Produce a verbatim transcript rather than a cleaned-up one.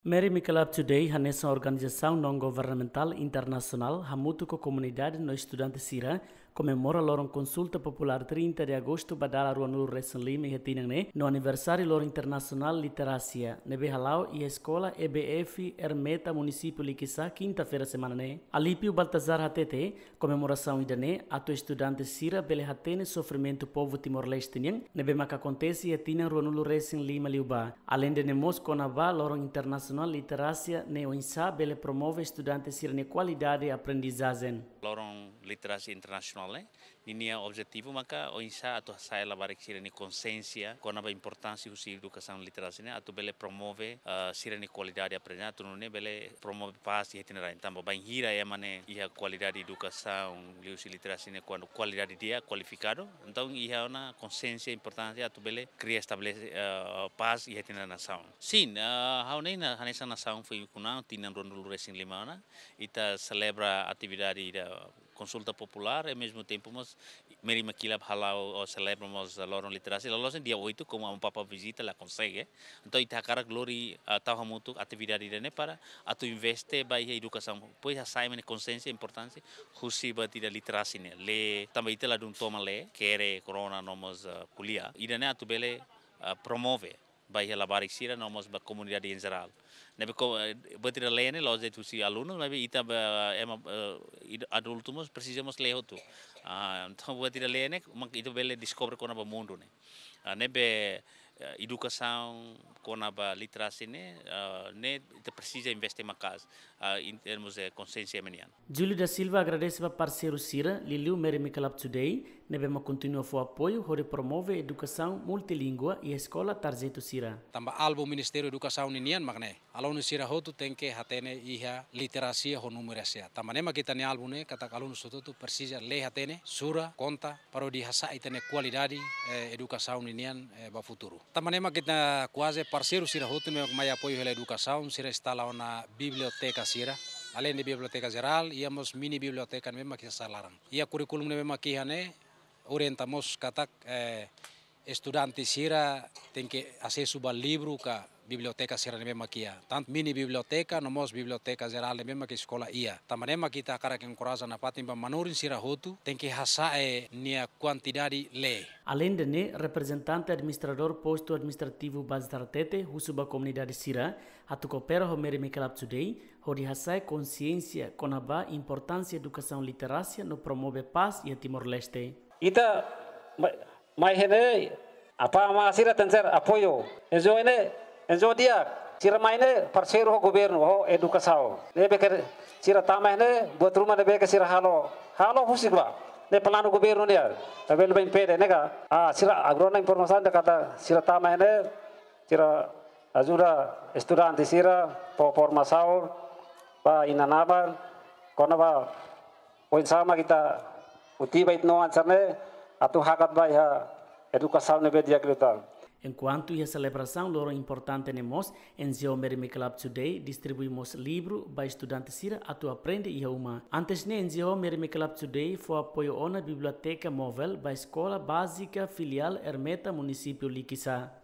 Mary McCullough Today hanesan organizasaun non-governamentál internasionál hamutuk ho komunidade no estudante sira komemora loron konsulta populár trinta de agostu ba dala ruanulu resin lima iha tinan ne'e no aniversáriu loron internasionál literasia ne'ebé hala'o iha eskola E B F Ermeta munisípiu Likisá kinta-feira semana ne'e. Alípio Baltazar hatete, komemorasaun ida-ne'e atu estudante sira bele hatene sofrimentu povu Timor-Leste nian ne'ebé maka akontese iha tinan ruanulu resin lima liubá. Aleinde ne'e mós kona-ba loron internasionál literasia ne'e oinsá bele promove estudante sira-nia kualidade aprendizajen. Loron literasia internasionál ne'e, ninia objetivu maka oinsá atu hasa'e labarik sira-nia konsiénsia kona-ba importánsia husi edukasaun literasia ne'e atu bele promove, eh, sira-nia kualidade aprendizajen, atu nune'e bele promove pás iha ita-nia rain. Tanba bainhira ema ne'e iha kualidade edukasaun liuhusi literasia ne'e kuandu kualidade di'ak, kualifikadu, entaun iha ona konsiénsia importante atu bele kria estabelese, eh, pás iha ita-nia nasaun. Sin, eh, ha'u ne'e hanesan nasaun foin kuna tinan ruanulu resin lima ona, ita selebra atividade ida konsulta populár, e mezmu tempu mós Mary McCullough hala'o ou selebra mós loron literasia, loloos ne'e dia oitu, komu Amu Papa vizita la konsege. Entaun ita hakarak lori, ah, tau hamutuk atividade ida-ne'e para atu investe ba iha edukasaun, depois hasa'e ema nia konsiénsia importánsia husi buat ida literasia ne'e, lee, tanba ita ladún toman lee, kere, korona no mós, ah, ko'alia. Ida-ne'e atu bele, ah, promove ba iha labarik sira no mós ba komunidade em geral. Ne'ebé ko, eh, buat ida lee ne'e la'ós de'it husi alunu, maibé ita ba, ema, eh, id-, adultu mós presiza mós lee hotu. Ah, entaun buat ida lee ne'e mak ita bele deskobre kona-ba mundu ne'e. Ah, ne'ebé, eh, edukasaun kona-ba literasia ne'e, ah, ne'e ita presiza investe maka'as, ah, em termos de konsiénsia ema nian. Júlio da Silva agradese ba parseiru sira, liuliu Mary McCullough Today, ne'ebé mak kontinua fó apoiu hodi promove edukasaun multilingua iha eskola tarjetu sira. Tanba alvu Ministériu Edukasaun ninian mak ne'e, alunu sira hotu tenke hatene iha literasia ho numerasia. Tanba ne'e mak ita-nia alvu ne'e katak alunu sira hotu presiza lee hatene, sura, konta, para hodi hasa'e ita-nia kualidade, eh, edukasaun ninian, eh, ba futuru. Tanba ne'e mak ita kuaze parseiru sira hotu ne'ebé mai apoiu hela edukasaun, sira instala ona biblioteka sira. Aleinde biblioteka jerál, iha mós mini biblioteka ne'ebé mak iha sala laran. Iha kurríkulu ne'ebé mak iha ne'e, orienta mós katak, eh, estudante sira tenke asesu ba livru ka biblioteka sira ne'ebé mak iha. Tantu mini biblioteka, no mós biblioteka jerál ne'ebé mak eskola iha. Tanba ne'e mak ita hakarak enkoraja nafatin ba manorin sira hotu, tenke hasa'e nia kuantidade lee. Aleinde ne'e, reprezentante administradór postu administrativu Bazar Tete husu ba komunidade sira atu koopera ho Mary McCullough Today, hodi hasa'e konsiénsia kona-ba importánsia edukasaun literasia no promove pás iha Timor-Leste. Ita ma-, mai iha ne'e, apá amá sira tenke ser apoiu. N G O ne'e, N G O di'ak, sira mai ne'e parseiru ho governu, ho edukasaun. Ne'ebé ke sira tama iha ne'e, buat ruma ne'ebé ke sira halo, halo husik ba. Ne'e planu governu nian, tabel bem pede, ne'e ka. Ah, sira agora ona informasaun dehan katak sira tama iha ne'e, sira ajuda estudante sira, fó formasaun ba inan-aman, kona-ba oinsá mak ita motiva ita-nia oan sira ne'e atu hakat ba iha edukasaun ne'ebé di'ak liután. Enkuantu iha selebrasaun loron importante ne'e mós, N G O Mary McCullough Today distribui mós livru ba estudante sira atu aprende iha uma. Antes ne'e N G O Mary McCullough Today fó apoiu ona biblioteka móvel ba eskola bázika filiál Ermeta munisípiu Likisá.